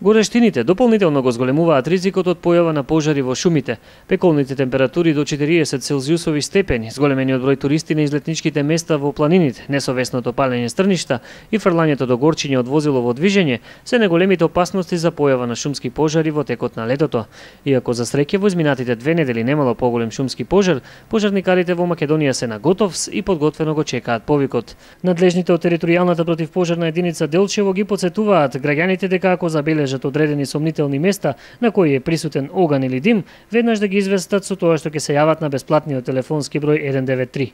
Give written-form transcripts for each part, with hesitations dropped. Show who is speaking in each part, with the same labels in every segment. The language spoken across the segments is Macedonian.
Speaker 1: Горештините дополнително го зголемуваат ризикот од појава на пожари во шумите. Пеколните температури до 40 целзиусови степени, зголемениот број туристи на излетничките места во планините, несовесното палење стрништа и фрлањето до горчиња од возило во движење се најголемите опасности за појава на шумски пожари во текот на летото. Иако за среќа во изминатите 2 недели немало поголем шумски пожар, пожарникарите во Македонија се на готовс и подготвено го чекаат повикот. Надлежните од територијалната противпожарна единица Делчево ги потсетуваат граѓаните дека ако забележат одредени сомнителни места на кои е присутен оган или дим, веднаш да ги известат со тоа што ќе се јават на бесплатниот телефонски број 193.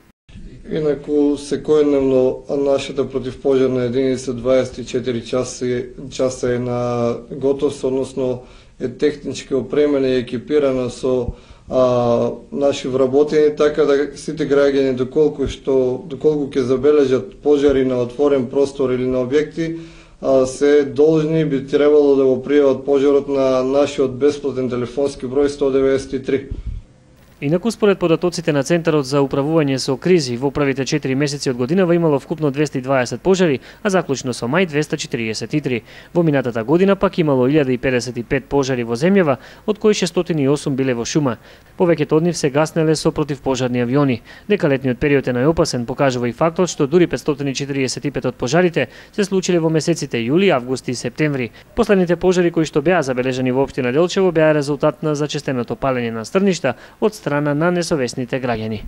Speaker 2: Инаку секојдневно нашата противпожарна единица 24 часа е на готовност, односно е технички опремена и екипирана со наши вработени, така да сите граѓани доколку ќе забележат пожари на отворен простор или на објекти, се должни би требало да го пријават пожарот на нашиот бесплатен телефонски број 193.
Speaker 1: Инаку според податоците на Центарот за управување со кризи, во првите 4 месеци од годинава имало вкупно 220 пожари, а заклучно со мај 243. Во минатата година пак имало 1055 пожари во земјава, од кои 608 биле во шума. Повеќето од нив се гаснеле со противпожарни авиони. Дека летниот период е најопасен покажува и фактот што дури 545 од пожарите се случиле во месеците јули, август и септември. Последните пожари кои што беа забележани во општина Делчево беа резултат на зачестеното палење на стрништа од страна на несовесните граѓани.